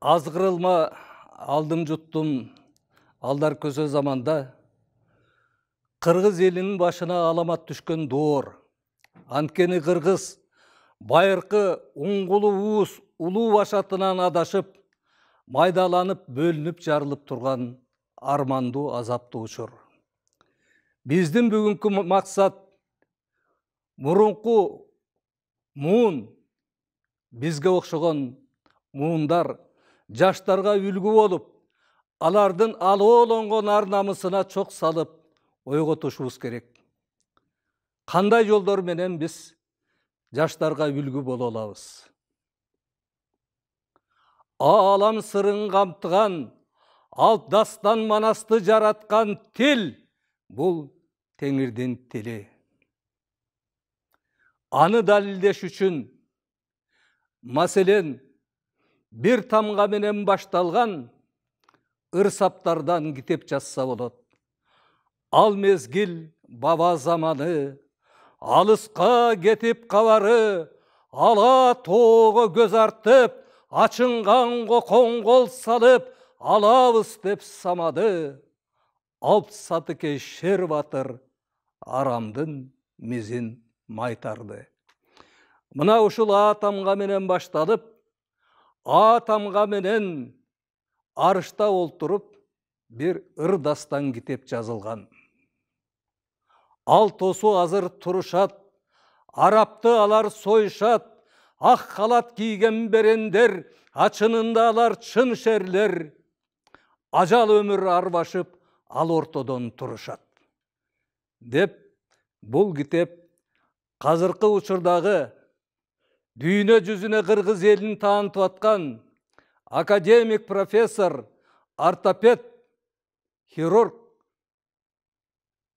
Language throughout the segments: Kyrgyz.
Азгырылма алдым жуттум алдар көзө заманда кыргыз элинин башына аламат түшкөн доор. Анткени кыргыз байыркы уңгулу уус улуу башатынан адашып, майдаланып, бөлүнүп жарылып турган армандуу азаптуу учур. Биздин бүгүнкү максат мурунку муун, бизге окшогон муундар жаштарга үлгү болуп, алардын алоолонгон ар намысына чок салып ойготушубуз керек. Кандай жолдор менен биз жаштарга үлгү боло алабыз? Алам сырын камтыган, алп дастан манасты жараткан тил бул Теңирдин тили. Аны далилдеш үчүн, маселен, бир тамга менен башталган ыр-саптардан китеп жазса болот. Ал мезгил баба заманы, алыска кетип кабары, ала тоого көз артып, ачынганго коңгол салып, алабыз деп самады. Алп Сатыкей шер батыр арамдын мизин майтарды. Мына ушул А тамга менен башталып, А тамга менен арышта олтуруп бир ыр дастан китеп жазылган. Ал тосу азыр турушат, арапты алар союшат, ак халат кийген берендер, ачынында алар чын шерлер. Ажал өмүр арбашып, ал ортодон турушат. Деп бул китеп азыркы учурдагы дүйнө жүзүнө кыргыз элин таанытып аткан академик, профессор, ортопед, хирург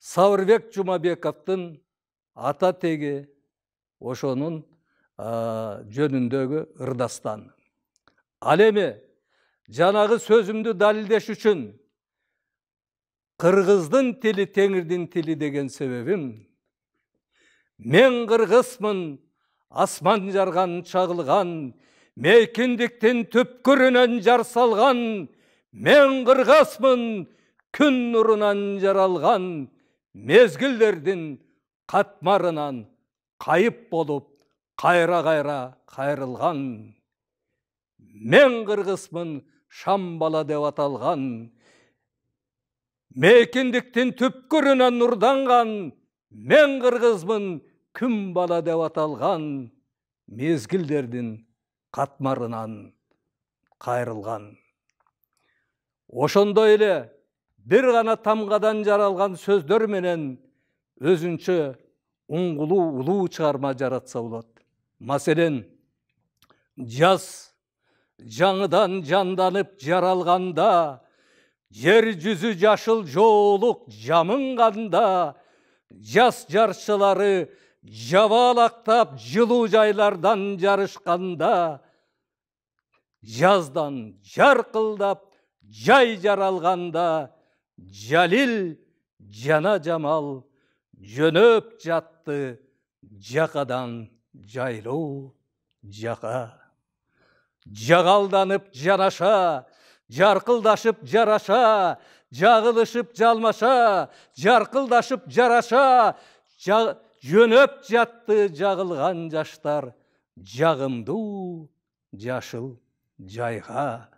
Сабырбек Жумабековдун ата теги ошонун жөнүндөгү ырдастан. Ал эми жанагы сөзүмдү далилдеш үчүн кыргыздын тили Теңирдин тили деген себебим, мен кыргызмын, асман жарган чагылган, мейкиндиктин түпкүрүнөн жар салган, мен кыргызмын, күн нурунан жаралган, мезгилдердин катмарынан кайып болуп, кайра-кайра кайрылган. Мен кыргызмын, шам бала деп аталган, мейкиндиктин түпкүрүнөн нурданган, мен кыргызмын, күн бала деп аталган, мезгилдердин катмарынан кайрылган. Ошондой эле бир гана тамгадан жаралган сөздөр менен өзүнчө уңгулуу улуу чыгарма жаратса болот. Маселен, жаз жаңыдан жанданып жаралганда, жер жүзү жашыл жоолук жамынганда, жаз жарчылары жабаалактап жылуу жайлардан жарышканда, жаздан жаркылдап жай жаралганда, Жалил жана Жамал жөнөп жатты жакадан жайлуу жака. Жагалданып жанаша, жаркылдашып жараша, жагылышып жалмаша, жаркылдашып жараша, жөнөп жатты жагылган жаштар жагымдуу жашыл жайга.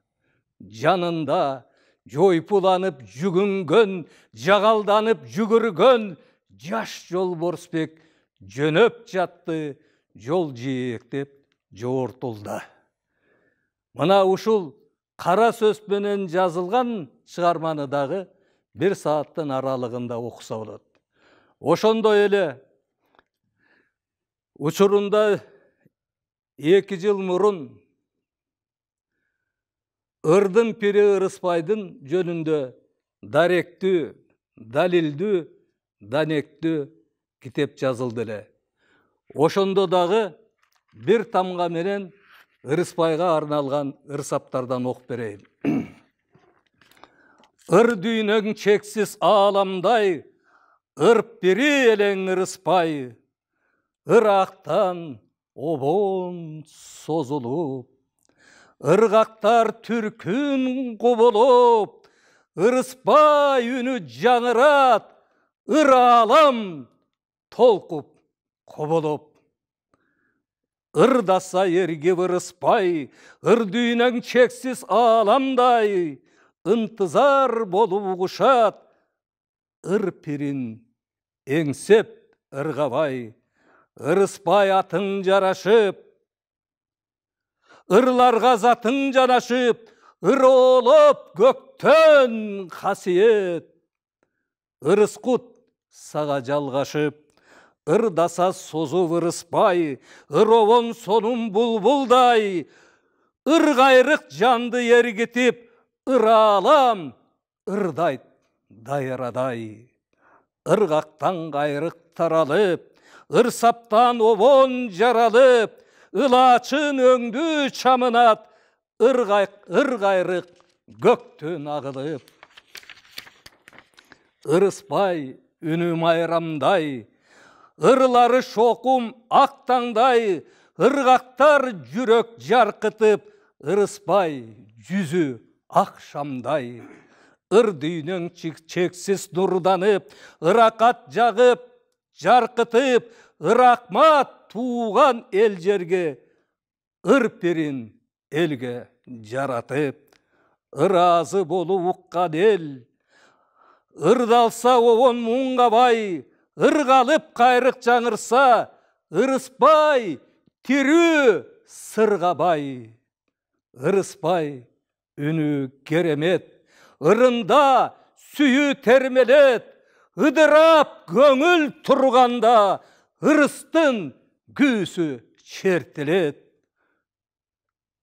Жанында жойпуланып жүгүнгөн, жагалданып жүгүргөн жаш жолборсбек жөнөп жатты жол жээктеп жогортулда. Мына ушул кара сөз менен жазылган чыгарманы дагы бир сааттын аралыгында окуса болот. Ошондой эле учурунда 2 жыл мурун ырдын пири Ырыспайдын жөнүндө даректүү, далилдүү, данектүү китеп жазылды эле. Ошондо дагы бир тамга менен Ырыспайга арналган ыр-саптардан окуп берейин. Ыр дүйнөң чексиз ааламдай, ыр пири элең Ырыспай, ыр актан обон созулуп, ыргактар түркүн кубулуп, ырыспай үнү жаңырат, ыр аалам толкуп кубулуп. Ырдаса эргип ырыспай, ыр дүйнөң чексиз ааламдай, ынтызар болуп угушат, ыр пирин эңсеп ыргабай. Ырыспай атың жарашып, ырларга затың жанашып, ыр оолоп көктөн касиет. Ырыскут сага жалгашып, ырдаса созуп ырыспай, ыр обон сонун булбулдай, ыр кайрык жанды эргитип, ыр аалам ырдайт дайрадай. Ыргактан кайрык таралып, ыр саптан обон жаралып, ылачын өңдү чамынат, ыр кайрык көктөн агылып. Ырыспай үнү майрамдай, ырлары шокум ак таңдай, ыргактар жүрөк жаркытып, ырыспай жүзү ак шамдай. Ыр дүйнөң чексиз нурданып, ыракат жагып жаркытып, ыракмат тууган эл жерге, ыр пирин элге жаратып. Ыраазы болуп уккан эл, ырдалса обон муңгабай, ыргалып кайрык жаңырса, ырыспай тирүү сыргабай. Ырыспай үнү керемет, ырында сүйүү термелет, ыдырап көңүл турганда, ырыстын күүсү чертелет.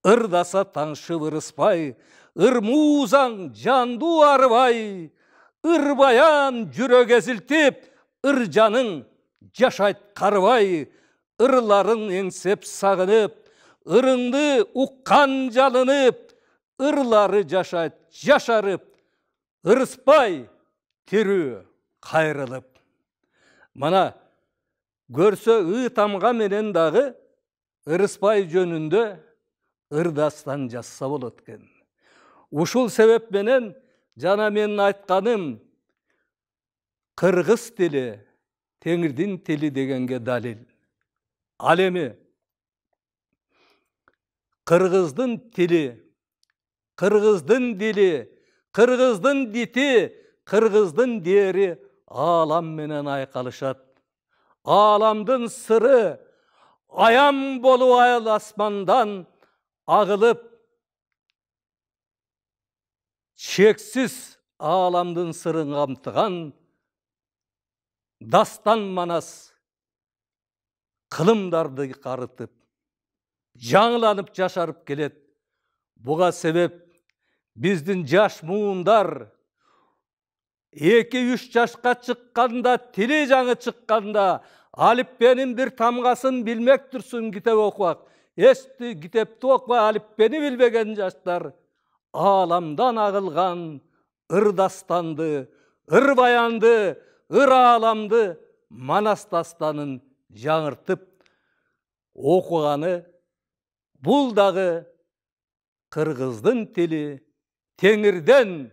Ырдаса таңшып ырыспай, ыр муузаң жанду арыбай, ыр баян жүрөк эзилтип, ыр жаның жашайт карыбай. Ырларын эңсеп сагынып, ырыңды уккан жалынып, ырлары жашайт жашарып, ырыспай тирүү кайрылып. Мына көрсө тамга менен дагы ырыспай жөнүндө ырдастан жазса болот экен. Ушул себеп менен жана менин айтканым кыргыз тили Теңирдин тили дегенге далил. Ал эми кыргыздын тили, кыргыздын дили, кыргыздын дити, кыргыздын дери аалам менен айкалышат. Ааламдын сыры аян болуп айыл асмандан агылып, чексиз ааламдын сырын камтыган дастан манас кылымдарды карытып, жаңыланып жашарып келет. Буга себеп биздин жаш муундар 2-3 жашка чыкканда, тили жаңы чыкканда, алиппенин бир тамгасын билмек турсун китеп окубак. Эсти китепти окубай алиппени билбеген жаштар ааламдан агылган ыр дастанды, ыр баянды, ыр ааламды манас дастанын жаңыртып окуганы, бул дагы кыргыздын тили Теңирден,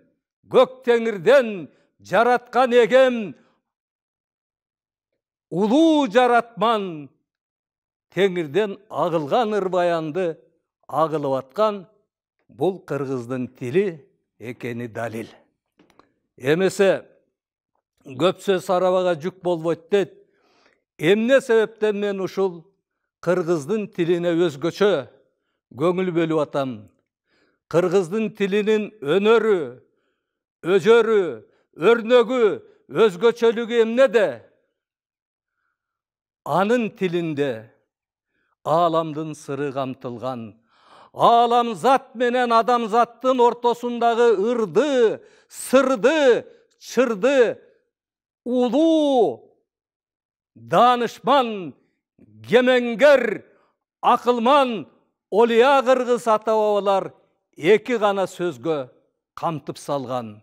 көк Теңирден жараткан эгем, улуу жаратман Теңирден агылган ыр баянды агылып аткан бул кыргыздын тили экени далил. Эмесе көп сөз арабага жүк болбойт дейт. Эмне себептен мен ушул кыргыздын тилине өзгөчө көңүл бөлүп атам? Кыргыздын тилинин өнөрү, өжөрү, өрнөгү, өзгөчөлүгү эмнеде? Анын тилинде ааламдын сыры камтылган. Ааламзат менен адамзаттын ортосундагы ырды, сырды, чырды улуу, даанышман, кемеңгер, акылман Олия кыргыз ата бабалар 2 гана сөзгө камтып салган.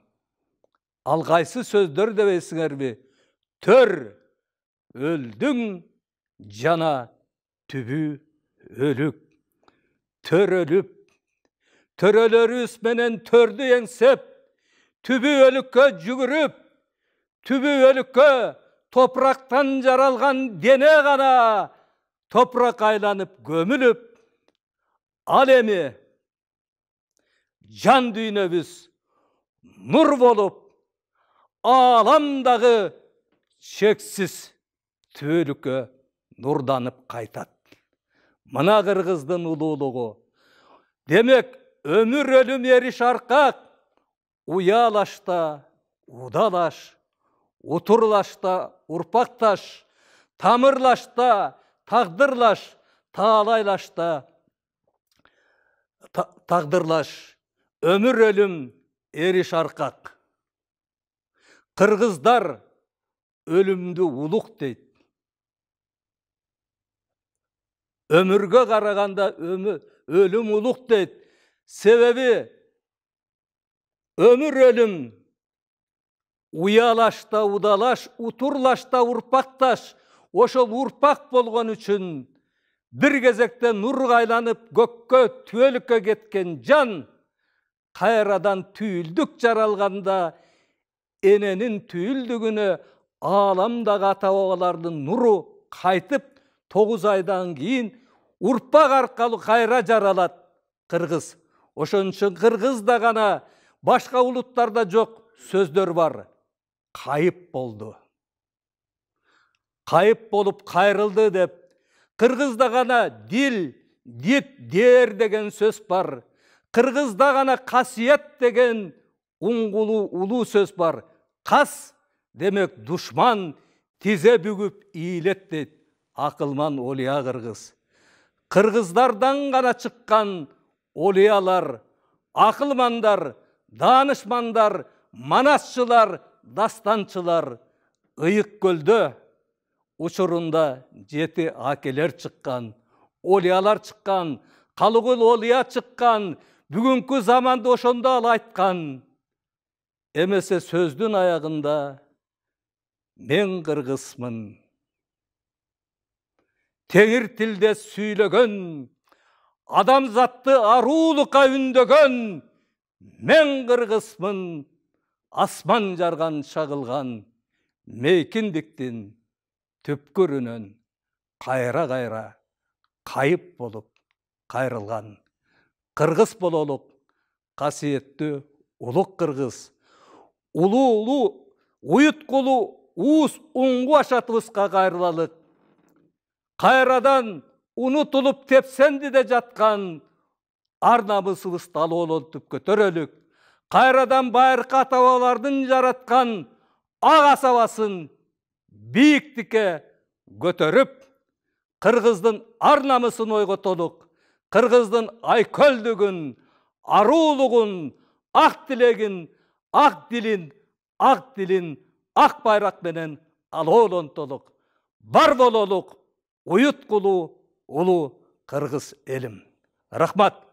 Ал кайсы сөздөр дебейсиңерби? Төр өлдүң, жана түбү өлүк. Төр өлүп, Төрөлөрүбүз менен төрдү эңсеп, түбү-өлүккө жүгүрүп, түбү-өлүккө топурактан жаралган дене гана топурак айланып көмүлүп, ал эми жан дүйнөбүз нур болуп, ааламдагы чексиз түбөлүккө нурданып кайтат. Мына кыргыздын улуулугу. Демек, өмүр өлүм эриш аркак, уялашта удалаш, утурлашта урпакташ, тамырлашта тагдырлаш, таалайлашта тагдырлаш, өмүр өлүм эриш аркак. Кыргыздар өлүмдү улук дейт. Өмүргө караганда өлүм улук дейт. Себеби өмүр өлүм уялашта удалаш, утурлашта урпакташ, ошол урпак болгон үчүн бир кезекте нурга айланып көккө, түбөлүккө кеткен жан кайрадан түйүлдүк жаралганда эненин түйүлдүгүнө ааламдагы ата бабалардын нуру кайтып 9 айдан кийин урпак аркылуу кайра жаралат кыргыз. Ошон үчүн кыргызда гана, башка улуттарда жок сөздөр бар. Кайып болду. Кайып болуп кайрылды деп. Кыргызда гана дил, дит, дээр деген сөз бар. Кыргызда гана касиет деген уңгулуу улуу сөз бар. Кас демек душман, тизе бүгүп ийлет дейт акылман олия кыргыз. Кыргыздардан гана чыккан олиялар, акылмандар, даанышмандар, манасчылар, дастанчылар Ыйык көлдө учурунда 7 акелер чыккан, олиялар чыккан, Калыгул олия чыккан, бүгүнкү заманда ошондо ал айткан. Эмесе сөздүн аягында мен кыргызмын. Теңир тилде сүйлөгөн, адамзатты аруулукка үндөгөн, мен кыргызмын. Асман жарган чагылган мейкиндиктин түпкүрүнөн кайра кайып болуп кайрылган. Кыргыз бололук, касиеттүү улук кыргыз. Улуу уюткулуу уус уңгу ашатыбызга кайрылалык. Кайрадан унутулуп тепсендиде жаткан ар намысыбызды алоолонтуп көтөрөлүк. Кайрадан байыркы ата бабалардын жараткан ак асабасын бийиктикке көтөрүп, кыргыздын ар намысын ойготолук. Кыргыздын айкөлдүгүн, аруулугун, ак тилегин, ак дилин, ак байрак менен алоолонтолук. Бар бололук уюткулуу улуу кыргыз элим. Рахмат.